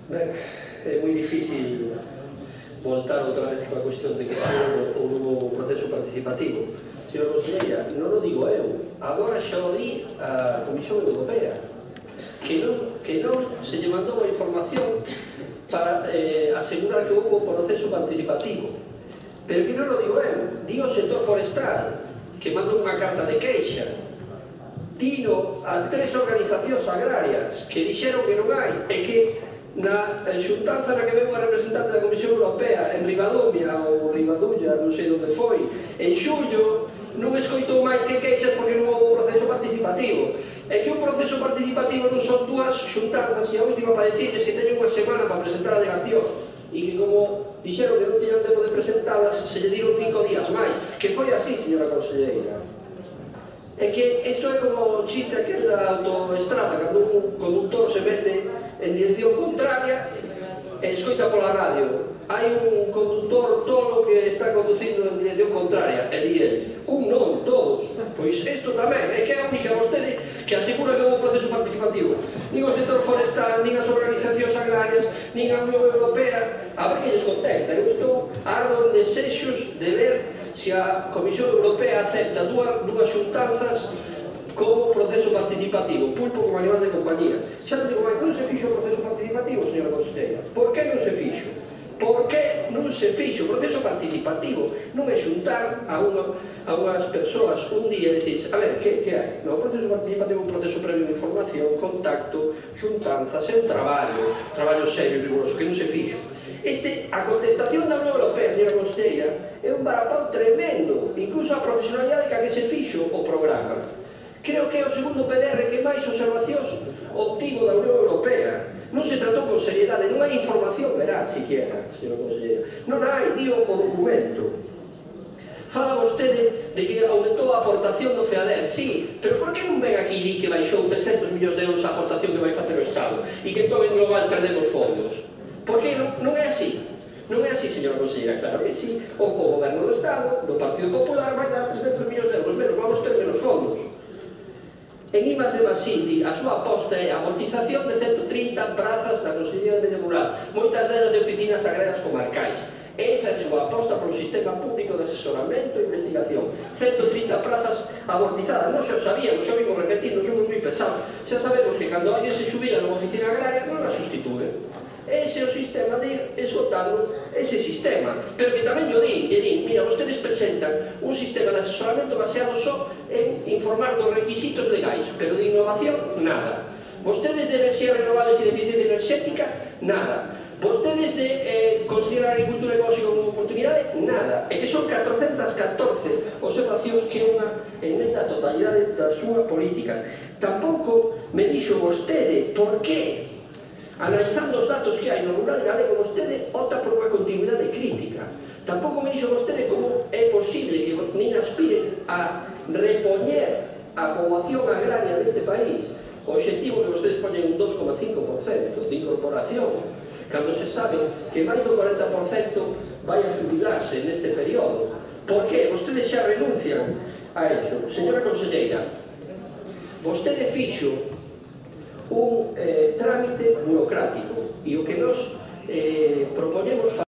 Ben, é moi difícil voltar outra vez coa cuestión de que se houve un proceso participativo. Señora conselleira, non o digo eu, agora xa o di a Comisión Europea, que non se lle mandou a información para asegurar que houve un proceso participativo. Pero que non o digo eu, di o sector forestal, que mandou unha carta de queixa. Dino as tres organizacións agrarias que dixeron que non hai, e que na xuntanza na que veu unha representante da Comisión Europea en Ribadumia ou Ribadulla, non sei onde foi, en xullo, non escoitou máis que queixas porque non houve un proceso participativo. E que un proceso participativo non son dúas xuntanzas, e a última para decirles que teñen unha semana para presentar alegacións, e que como dixeron que non tiñan tempo de presentalas, se lle diron 5 días máis, que foi así, señora conselleira. É que isto é como o chiste aquel da autoestrada, cando un conductor se mete en dirección contraria e escoita pola radio: hai un conductor tolo que está conducindo en dirección contraria, e di el: un non, todos. Pois isto tamén, é que é a única vostede que asegura que houve un proceso participativo. Nin o sector forestal, nin as organizacións agrarias, nin a Unión Europea. A ver que lles contesta. Eu estou ardo en desexos de ver se a Comisión Europea acepta dúas xuntanzas como proceso participativo, pulpo como animal de compañía. Xa non digo máis, non se fixo o proceso participativo, señora conselleira. Por que non se fixo? Por que non se fixo? O proceso participativo non é xuntar a unhas persoas un día e dicir: a ver, que hai? No, o proceso participativo é un proceso previo de información, contacto, xuntanzas, é un traballo serio e riguroso, que non se fixo. A contestación da Unión Europea, señora conselleira, é un varapau tremendo, incluso a profesionalidade que se fixo o programa. Creo que é o segundo PDR que máis observacións obtivo da Unión Europea. Non se tratou con seriedade, non hai información veraz, siquiera, señora conselleira. Non hai, dio o documento. Fala vostede de que aumentou a aportación do FEADER. Sí, pero por que non ven aquí di que baixou 300 millóns de euros a aportación que vai facer o Estado e que entón en global perdemos fondos? Por que non é así? Non é así, señora conselleira, claro que sí. O goberno do Estado, do Partido Popular, vai dar 300 millóns de euros menos, vamos ter menos fondos. En Imas de Masindi, a súa aposta é a amortización de 130 prazas da Consellería de Medio Rural, moitas delas de oficinas agrarias comarcais. Esa é a súa aposta polo sistema público de asesoramento e investigación. 130 prazas amortizadas. Non xa o sabíamos, xa vimos repetindo, somos moi pesados. Xa sabemos que cando alguén se xubila nunha oficina agraria non a sustitúe. Ese é o sistema de ir esgotando ese sistema. Pero que tamén lle din, mira, vostedes presentan un sistema de asesoramento baseado só en informar dos requisitos legais, pero de innovación, nada. Vostedes de enerxías renovables e de eficiencia enerxética, nada. Vostedes de considerar a agricultura ecolóxica como oportunidade, nada. E que son 414 observacións que é unha emenda a totalidade da súa política. Tampouco me dixo vostede por que, analizando os datos que hai no rural galego, vostede opta por unha continuidade crítica. Tampouco me dixo vostede como é posible que nin aspire a repoñer a poboación agraria deste país, o obxectivo que vostedes poñen un 2,5% de incorporación, cando se sabe que máis do 40% vai a xubilarse neste período. Por que? Vostedes xa renuncian a eso. Señora conselleira, vostede fixo un trámite burocrático, e o que nos propoñemos